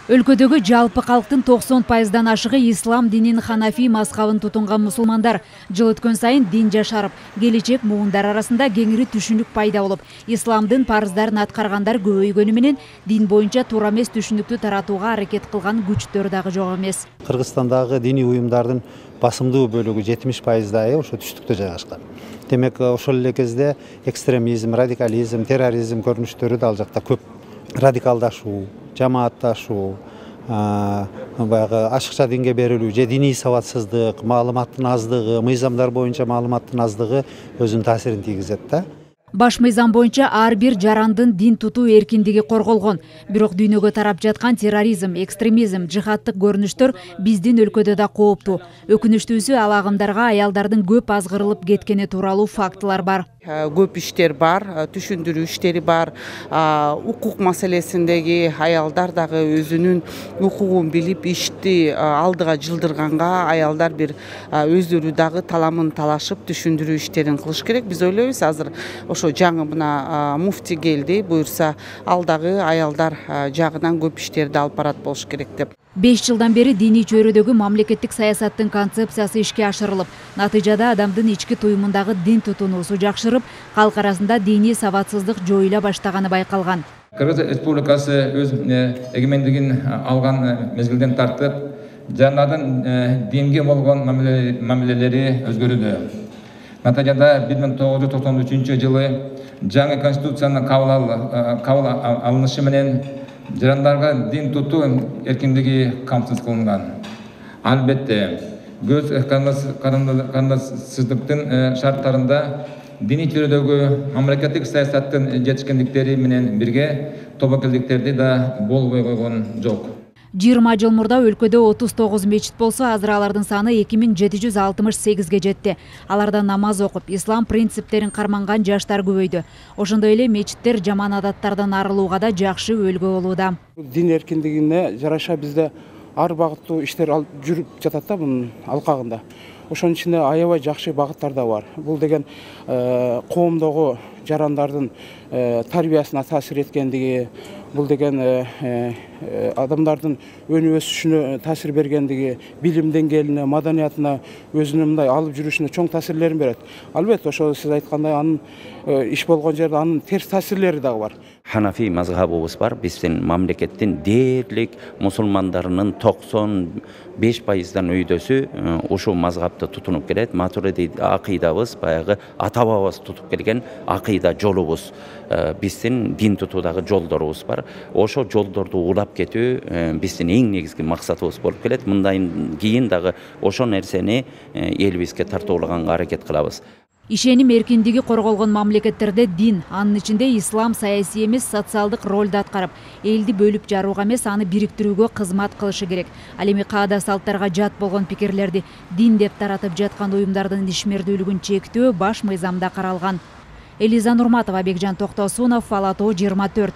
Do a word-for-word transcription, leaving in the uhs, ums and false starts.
Өлкөдөгү жалпы калктын токсон пайыздан ашыгы ислам динин ханафи мазхабын тутунган мусулмандар. Жыл өткөн сайын дин жашарып, келечек муундар арасында кеңири түшүнүк пайда болуп, исламдын парыздарын аткаргандар көбөйгөнү менен дин боюнча туура эмес түшүнүктү таратууга аракет кылган күчтөр дагы жок эмес. Кыргызстандагы диний уюмдардын басымдуу бөлүгү жетимиш пайыздай ошо түштүктө жайгашкан. Демек, ошол эле кезде экстремизм, радикализм, терроризм көрүнүштөрү да ал жакта көп. Радикалдашуу, жамаатташуу, баягы ашыкча динге берилүү же диний сабатсыздык, маалыматтын аздыгы, мыйзамдар боюнча маалыматтын аздыгы өзүнүн таасирин тийгизет да. Баш мыйзам боюнча ар бир жарандын дин тутуу эркиндиги корголгон. Бирок дүйнөгө тарап жаткан терроризм, экстремизм, жихадтык көрүнүштөр биздин өлкөдө да кооптуу. Өкүнүчтүүсү ал агымдарга аялдардын көп азгырылып кеткени тууралуу фактылар бар. Көп иштер бар, түшүндүрүү иштери бар. Укук маселесиндеги аялдар дагы өзүнүн укугун билип ишти алдыга жылдырганга аялдар бир өздөрү дагы таламын талашып түшүндүрүү иштерин кылыш керек. Биз ойлойбуз азыр ошо жаңы мына муфти келди, буюрса ал дагы аялдар жагынан көп иштерди алып барат болуш керек деп. беш жылдан бери диний чөйрөдөгү мамлекеттик саясаттын концепциясы ишке ашырылып, натыйжада адамдын ички туюмундагы дин тутуноосу жакшырып, калк арасында диний сабатсыздык жоюла баштаганы байкалган. Кыргыз Республикасы өз эгемендигин алган мезгилден тартып, жанардын динге болгон мамилелери өзгөрүүдө. Натыйжада бир миң тогуз жүз токсон үчүнчү жылы жаңы конституциянын кабыл алынышы менен жарандарга дин тутуу эркиндиги камсыз кылынган. Албетте, көз карандысыздыктын шарттарында диний чөйрөдөгү мамлекеттик саясаттын жетишкендиктери менен бирге тобокелдиктерди да болбой койгон жок. жыйырма жыл мурда өлкөдө отуз тогуз мечит болсо, азыр алардын саны эки миң жети жүз алтымыш сегизге жетти. Аларда намаз окуп, ислам принциптерин карманган жаштар көбөйдү. Ошондой эле мечиттер жаман адаттардан арылууга да жакшы өбөлгө болууда. Дин эркиндигине жараша бизде ар багыттуу иштер жүрүп жатат да мунун алкагында. Ошонун ичинде аябай жакшы багыттар да бар. Бул деген коомдогу жарандардын тарбиясына таасир эткендиги, бул деген адамдардын өнүп өсүшүнө таасир бергендиги, билим деңгээлине, маданиятына, өзүнүн мындай алып жүрүшүнө чоң таасирлерин берет. Албетте, ошо сиз айткандай анын иш болгон жерде анын терс таасирлери дагы бар. Ханафи мазхабыбыз бар. Биздин мамлекеттин дээрлик мусулмандарынын токсон беш пайыздан өйдөсү ушул мазхабты тутунуп келет. Матуриди акыйдабыз баягы ата бабабыз тутуп келген акыйда жолубуз. Биздин дин тутуудагы жолдорубуз бар. Ошо жолдорду улап кетүү биздин эң негизги максатыбыз болуп келет. Мындан кийин дагы ошол нерсени элибизге тартуулаганга аракет кылабыз. Ишеним эркиндиги корголгон мамлекеттерде дин, анын ичинде ислам саясий эмес социалдык ролду аткарып, элди бөлүп жарууга эмес, аны бириктирүүгө кызмат кылышы керек. Ал эми каада салттарга жат болгон пикирлерди дин деп таратып жаткан уюмдардын ишмердүүлүгүн чектөө баш мыйзамда каралган. Элиза Нурматова, Бекжан Токтосунов, Ала тоо жыйырма төрт.